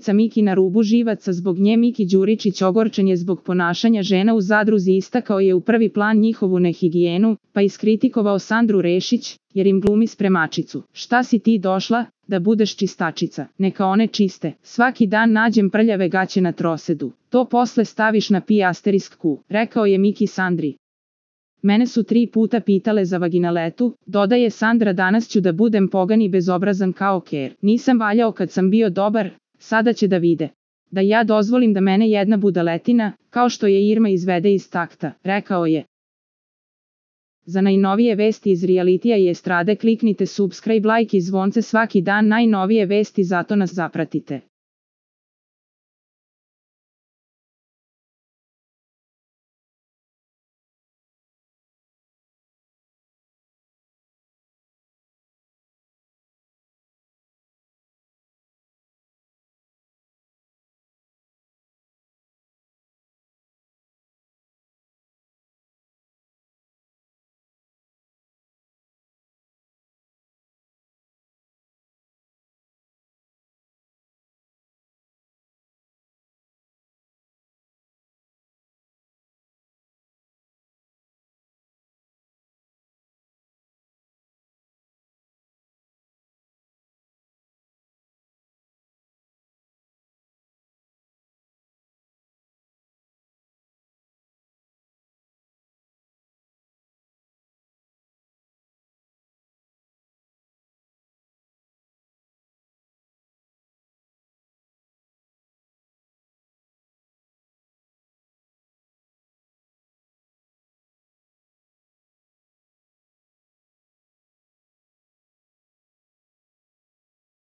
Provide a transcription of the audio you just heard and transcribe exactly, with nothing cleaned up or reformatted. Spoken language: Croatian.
prijateljica Miki na rubu živaca, zbog nje Miki Đuričić ogorčen je zbog ponašanja žena u zadruzi, istakao je u prvi plan njihovu nehigijenu, pa iskritikovao Sandru Rešić, jer im glumi spremačicu. Šta si ti došla, da budeš čistačica? Neka one čiste. Svaki dan nađem prljave gaće na trosedu. To posle staviš na pi asterisk ku, rekao je Miki Sandri. Mene su tri puta pitale za vaginaletu, dodaje Sandra, danas ću da budem pogan i bezobrazan kao ker. Nisam valjao kad sam bio dobar, sada će da vide. Da ja dozvolim da mene jedna budaletina, kao što je Irma, izvede iz takta, rekao je. Za najnovije vesti iz realitija i estrade kliknite subscribe, like i zvonce svaki dan, najnovije vesti, zato nas zapratite.